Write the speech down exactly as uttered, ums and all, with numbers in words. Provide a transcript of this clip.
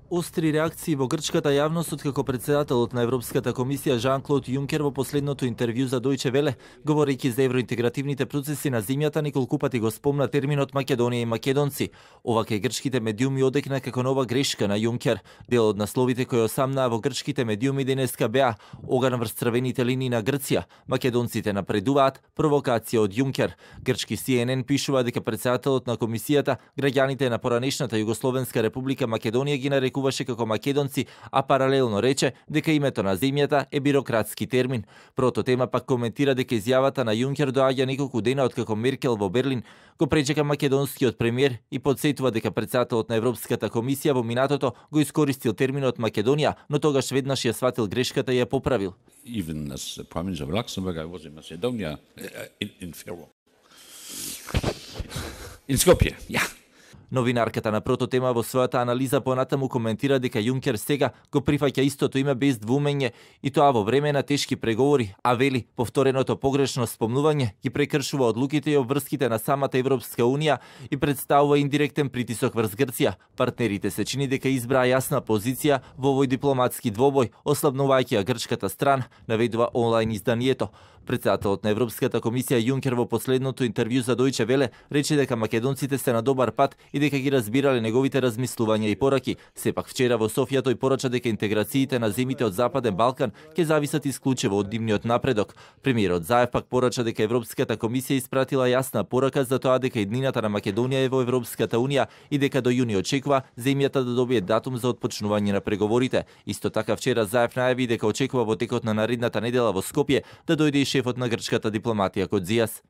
Остри реакции во грчката јавност откако председателот на Европската комисија Жан-Клод Јункер во последното интервју за Дојче Веле, говорејќи за евроинтегративните процеси на земјата, неколку пати го спомна терминот Македонија и македонци. Ова кај грчките медиуми одекна како нова грешка на Јункер. Дел од насловите кои осамнаа во грчките медиуми денеска беа: оган врз црвените линии на Грција, македонците напредуваат, провокација од Јункер. Грчки Си Ен Ен пишува дека председателот на комисијата граѓаните на поранешната Југословенска република Македонија ги нарекуваше како македонци, а паралелно рече дека името на земјата е бирократски термин. Прото тема пак коментира дека изјавата на Јункер доаѓа неколку дена откако Меркел во Берлин го пречека македонскиот премиер и подсетува дека председателот на Европската комисија во минатото го искористил терминот Македонија, но тогаш веднаш ја сватил грешката и ја поправил. Even as Prime Minister of Luxembourg, I was in Macedonia, in, in Faro. In Skopje, ja. Новинарката на Прото тема во својата анализа понатаму коментира дека Јункер сега го прифаќа истото име без двумење и тоа во време на тешки преговори, а вели повтореното погрешно спомнување ги прекршува одлуките и обврските на самата Европска унија и представува индиректен притисок врз Грција. Партнерите се чини дека избраа јасна позиција во овој дипломатски двобој, ослабнувајќи ја грчката страна, наведува онлайн изданието. Председателот на Европската комисија Јункер во последното интервју за Дојче Веле рече дека македонците се на добар пат и дека ги разбирале неговите размислувања и пораки. Сепак вчера во Софија тој порача дека интеграциите на земите од Западен Балкан ќе зависат исклучиво од нивниот напредок. Премиерот Заев пак порача дека Европската комисија испратила јасна порака за тоа дека иднината на Македонија е во Европската унија и дека до јуни очекува земјата да добие датум за отпочнување на преговорите. Исто така вчера Заев најави дека очекува во текот на наредната недела во Скопје да дојде и шефот на грчката дипломатија Кодзијас.